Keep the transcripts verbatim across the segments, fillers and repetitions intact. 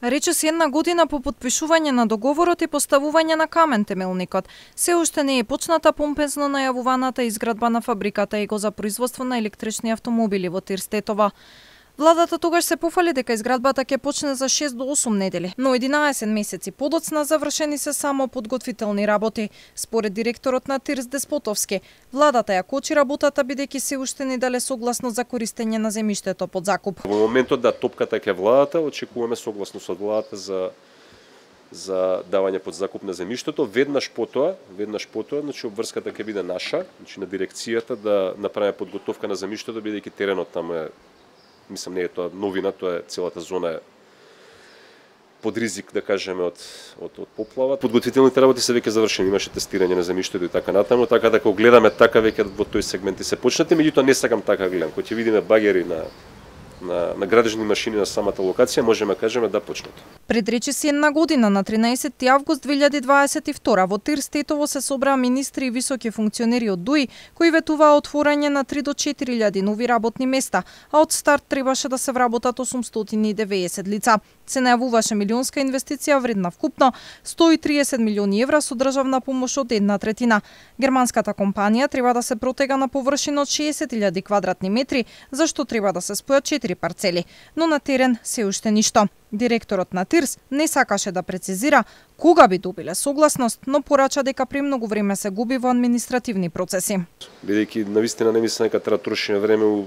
Речиси една година по потпишување на договорот и поставување на камен темелникот, се уште не е почната помпезно најавуваната изградба на фабриката ЕГО за производство на електрични автомобили во Тирстетово. Владата тогаш се пофали дека изградбата ќе почне за шест до осум недели, но единаесет месеци подоцна завршени се само подготвителни работи. Според директорот на Тирс Деспотовски, владата ја кочи работата бидејќи се уште не дале согласно за користење на земјиштето под закуп. Во моментот да топката ќе владата, очекуваме согласност од владата за за давање под закуп на земјиштето. Веднаш потоа, веднаш потоа, значи обврската ќе биде наша, значи на дирекцијата да направи подготовка на земјиштето бидејќи теренот таму е, мислам, не е тоа новина, тоа е целата зона е под ризик, да кажеме, од, од, од поплава. Подготвителните работи се веќе завршени, имаше тестирање на земјиштето и така натаму, така да кога гледаме така веќе во тој сегмент се почнати, меѓутоа не сакам така гледам. Кога ќе видиме багери на на на градежни машини на самата локација, можеме кажеме да почнат. Пред речиси една година на тринаесети август две илјади дваесет и втора во Тирстетово се собраа министри и високи функционери од ДУИ кои ветуваа отворање на три до четири илјади нови работни места, а од старт требаше да се вработат осумстотини и деветдесет лица. Се најавуваше милионска инвестиција вредна вкупно сто и триесет милиони евра со државна помош од една третина. Германската компанија треба да се протега на површина од шеесет илјади квадратни метри, за што треба да се спојат четири парцели, но на терен се уште ништо. Директорот на Тирс не сакаше да прецизира кога би добиле согласност, но порача дека премногу време се губи во административни процеси. Бидејќи навистина не мислам дека треба да трошиме време у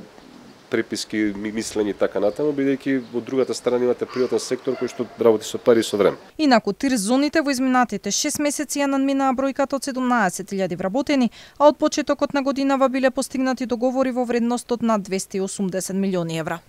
преписки, мислење и така натаму, бидејќи од другата страна имате приватен сектор кој што работи со пари и со време. Инаку Тирс зоните во изминатите шест месеци ја надминаа бројката од седумнаесет илјади вработени, а од почетокот на годинава биле постигнати договори во вредност од над двесте и осумдесет милиони евра.